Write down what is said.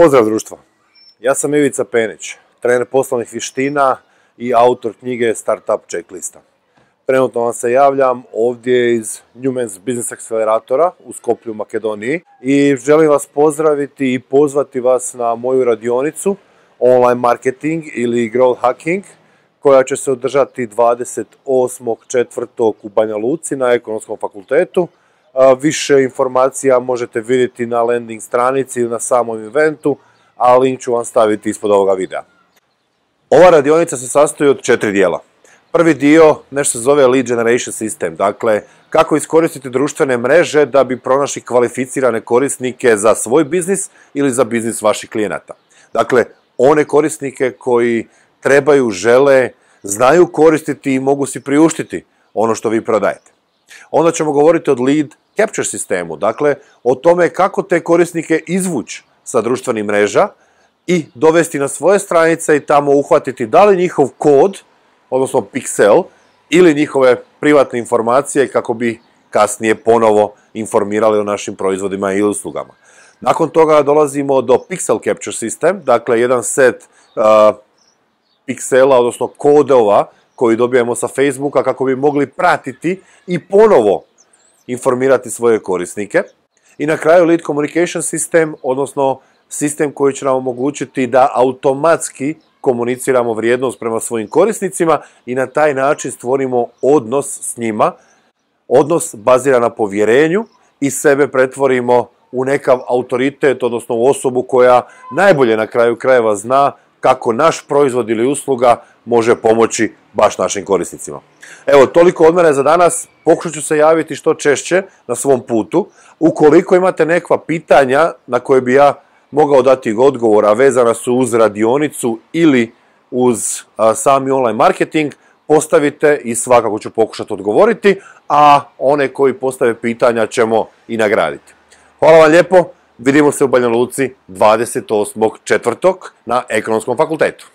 Pozdrav društvo, ja sam Ivica Penić, trener poslovnih vještina i autor knjige Startup Checklista. Trenutno vam se javljam ovdje iz Newman's Business Acceleratora u Skopju, Makedoniji i želim vas pozdraviti i pozvati vas na moju radionicu Online Marketing ili Growth Hacking koja će se održati 28.4. u Banja Luci na Ekonomskom fakultetu. Više informacija možete vidjeti na landing stranici ili na samom eventu, a link ću vam staviti ispod ovoga videa. Ova radionica se sastoji od 4 dijela. Prvi dio nešto se zove Lead Generation System, dakle kako iskoristiti društvene mreže da bi pronašli kvalificirane korisnike za svoj biznis ili za biznis vaših klijenata. Dakle, one korisnike koji trebaju, žele, znaju koristiti i mogu si priuštiti ono što vi prodajete. Onda ćemo govoriti o Lead Capture sistemu, dakle o tome kako te korisnike izvući sa društvenih mreža i dovesti na svoje stranice i tamo uhvatiti da li njihov kod, odnosno piksel, ili njihove privatne informacije kako bi kasnije ponovo informirali o našim proizvodima i uslugama. Nakon toga dolazimo do Pixel Capture System, dakle jedan set piksela, odnosno kodova koji dobijemo sa Facebooka kako bi mogli pratiti i ponovo informirati svoje korisnike. I na kraju Lead Communication System, odnosno sistem koji će nam omogućiti da automatski komuniciramo vrijednost prema svojim korisnicima i na taj način stvorimo odnos s njima. Odnos bazira na povjerenju i sebe pretvorimo u nekav autoritet, odnosno u osobu koja najbolje na kraju krajeva zna kako naš proizvod ili usluga može pomoći baš našim korisnicima. Evo, toliko od mene za danas. Pokušat ću se javiti što češće na svom putu. Ukoliko imate neka pitanja na koje bi ja mogao dati odgovor, a vezana su uz radionicu ili uz sami online marketing, postavite i svakako ću pokušati odgovoriti, a one koji postave pitanja ćemo i nagraditi. Hvala vam lijepo, vidimo se u Banja Luci 28.4. na Ekonomskom fakultetu.